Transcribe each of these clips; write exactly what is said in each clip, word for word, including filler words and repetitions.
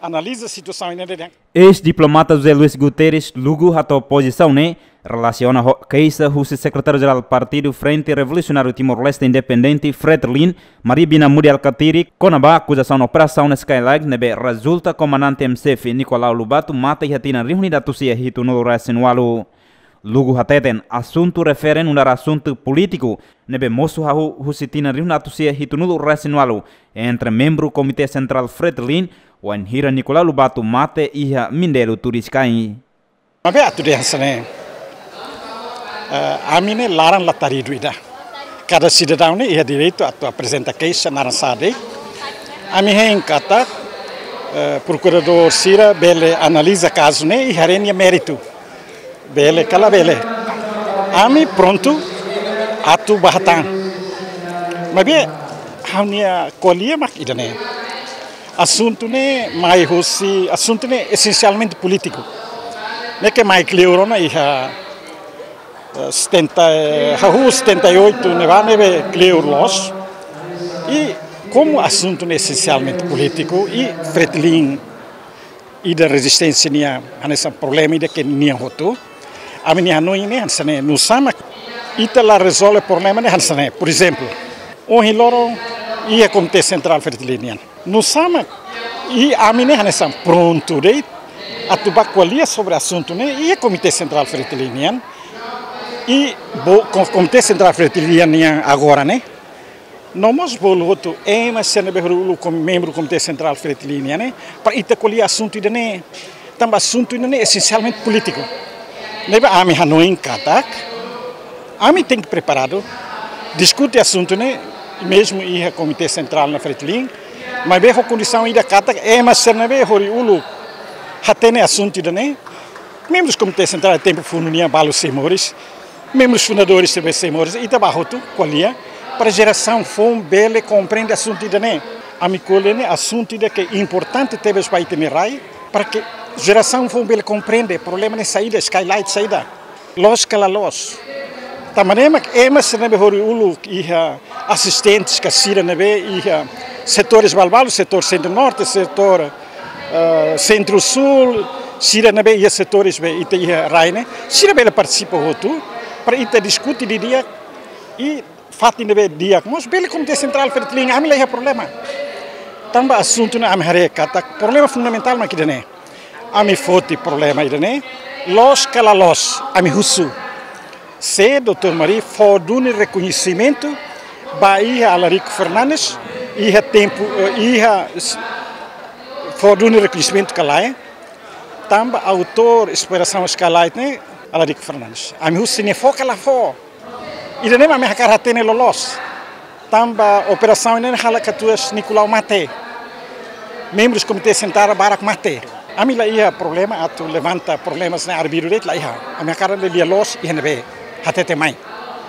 Analiza situasaun ne'e de'it. Eis-diplomata José Luís Guterres Lugo hato'o pozisaun ne'e relasiona ho keixa husi Sekretáriu-Jerál Partidu Frente Revolusionáriu Timor-Leste Independente, Fretilin, Maria Bina Mudi Alkatiri, kona-ba akuzasaun operasaun Skylark ne'ebé rezulta komandante M C F Nicolau Lobato mate iha tinan rihun ida atus sia hitunulu resin walu. Lugo hateten asuntu refere nu'udar asuntu polítiku ne'ebé mosu hahú husi tinan rihun ida atus sia hitunulu resin walu entre membru Komité Sentrál Fretilin, wainhira Nicolau Lobato mate iha Mindelo, Turiscai. Maibé atu dehan hanesan ne'e, eh, ami ne'e laran lataridu ida. Kada sidadaun ne'e iha direitu atu aprezenta keixa naran sá de'it. Ami hein katak, eh, prokuradór sira bele analiza kazu ne'e i haree nia méritu. Bele ka labele. Ami prontu atu bá hatán. Maibé ha'u-nia ko'alia mak ida-ne'e. Asuntu ne'e mai husi, asuntu ne'e esensialmente polítiku. Ne'e ke mai kleur ona iha, eh, setenta, eh, hahú setenta e oito ne'ebá ne'ebé kleur loos. I komu asuntu ne'e esensialmente polítiku, i Fretilin ida rezisténsia nian hanesan problema ida ke nian hotu. Ami-nia hanoin ne'e hanesan ne'e, nusá mak ita la rezolve problema ne'e hanesan ne'e. Por ezemplu, ohin loron iha Komité Sentrál Fretilin nian. Nusá mak i ami ne'e hanesan prontu de'it atu bá ko'alia sobre asuntu ne'e iha Komité Sentrál Fretilin nian. I bo-, ko-, Komité Sentrál Fretilin nian agora ne'e no mós bolu hotu ema sira ne'ebé hori uluk komu membru Komité Sentrál Fretilin nian ne'e, para ita ko'alia asuntu ida-ne'e. Tanba asuntu ida-ne'e esensialmente polítiku. Ne'ebé ami hanoin katak ami tenke preparadu diskute asuntu ne'e, mezmu iha Komité Sentrál na Fretilin, maibé ho kondisaun ida katak ema sira ne'ebé hori uluk hatene asuntu ida-ne'e, membrus Komité Sentrál tempu funu nian balu sei moris, membrus fundadores sei moris, ita bá hotu ko'alia para jerasaun foun bele komprende asuntu ida-ne'e. Ami ko'alia ne'e asuntu ida ke importante tebes ba ita-nia rai, para ke jerasaun foun bele komprende problema ne'e saida, Skylark saida. Loos ka la loos. Tanba ne'e mak ema sira ne'ebé hori uluk iha asistentes ka sira ne'ebé iha setores balbalu, setór Sentru-Norte, setór, eh, Sentru-Súl, sira ne'ebé iha setores be ita iha rai ne'e, sira bele partisipa hotu, para ita diskute didi'ak i fatin ne'ebé di'ak mós bele Komité Sentrál Fretilin, ami la iha problema. Tanba asuntu ne'e ami haree katak problema fundamentál mak ida-ne'e. Ami foti problema ida-ne'e, loos ka la loos, ami husu. Se doutór Mari fó duni rekoñesimentu ba iha Alarico Fernandes, iha tempu, eh, iha s-, fó duni rekoñesimentu ka lae, tanba autór operasaun Skylark ne'e Alarico Fernandes. Ami husu se nia fó ka la fó. Ida-ne'e mak ami hakarak hatene loloos. Tanba operasaun ne'e halo katuas Nicolau mate. Membrus Komité Sentrál barak mate. Ami la iha problema atu levanta problemas ne'e arbiru de'it, la iha. Ami hakarak lee lia loos iha ne'ebé hatete mai.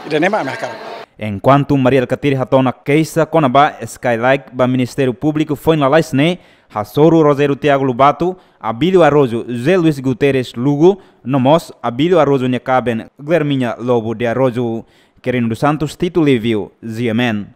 Ida-ne'e mak ami hakarak. Enkuantu Mari Alkatiri hato'o ona keixa kona-ba Skylark ba Ministériu Públiku foin lalais ne'e, hasoru Rogério Tiago Lobato, Abílio Araújo, José Luís Guterres Lugo, no mós Abílio Araújo nia kaben Guilherminha Lobo de Araújo. Quirino dos Santos, Tito Livio, G M N.